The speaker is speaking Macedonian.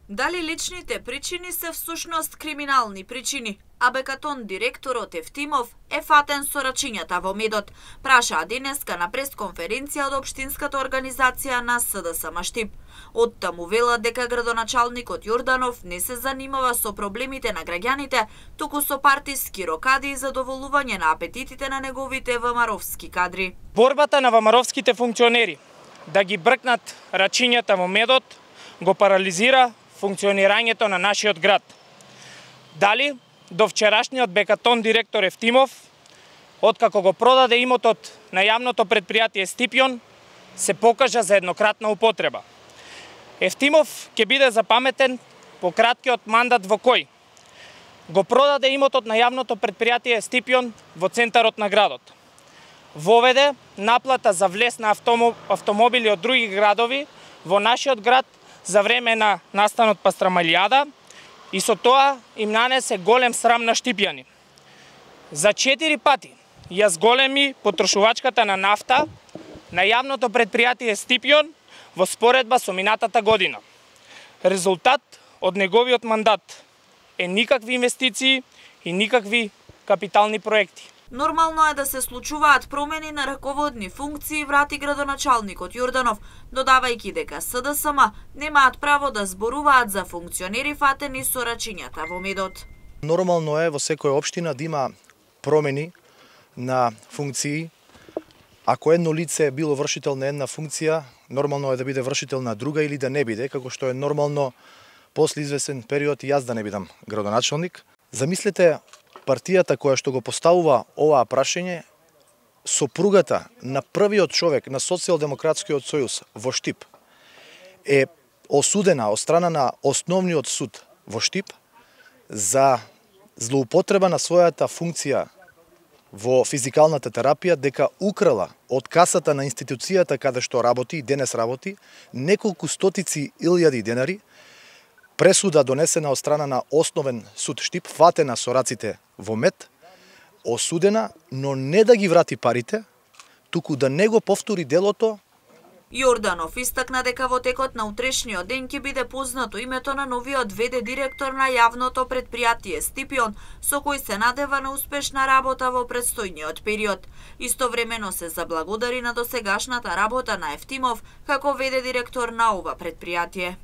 Дали личните причини се всушност криминални причини? Абекатон директорот Евтимов е фатен со рачињата во медот, прашаа денеска на пресконференција од општинската организација на СДСМ Штип. Оттаму велат дека градоначалникот Јорданов не се занимава со проблемите на граѓаните, туку со партиски рокади и задоволување на апетитите на неговите ВМРО-вски кадри. Борбата на ВМРО-вските функционери да ги бркнат рачињата во медот го парализира функционирањето на нашиот град. Дали до вчерашниот Бекатон директор Евтимов, откако го продаде имотот на јавното предпријатие Стипјон, се покажа за еднократна употреба. Евтимов ќе биде запаметен по краткиот мандат во кој го продаде имотот на јавното предпријатие Стипјон во центарот на градот. Воведе наплата за влез на автомобили од други градови во нашиот град за време на настанот Пастрамалијада и со тоа им нанесе голем срам на штипјани. За 4 пати ја зголеми потрошувачката на нафта на јавното предпријатие Стипјон во споредба со минатата година. Резултат од неговиот мандат е никакви инвестиции и никакви капитални проекти. Нормално е да се случуваат промени на раководни функции, врати градоначалникот Јорданов, додавајќи дека СДСМ немаат право да зборуваат за функционери фатени со рачињата во медот. Нормално е во секоја општина да има промени на функции. Ако едно лице било вршител на една функција, нормално е да биде вршител на друга или да не биде, како што е нормално после извесен период и јас да не бидам градоначалник. Замислете партијата која што го поставува оваа прашање, сопругата на првиот човек на Социјалдемократскиот сојуз во Штип е осудена од страна на Основниот суд во Штип за злоупотреба на својата функција во физикалната терапија, дека украла од касата на институцијата каде што работи и денес работи неколку стотици илјади денари. Пресуда донесена од страна на Основен суд Штип, фатена со раците во мед, осудена, но не да ги врати парите, туку да не го повтори делото. Јорданов истакна дека во текот на утрешниот ден ќе биде познато името на новиот ВД директор на јавното предпријатие Стипјон, со кој се надева на успешна работа во предстојниот период. Истовремено се заблагодари на досегашната работа на Евтимов како ВД директор на ова предпријатие.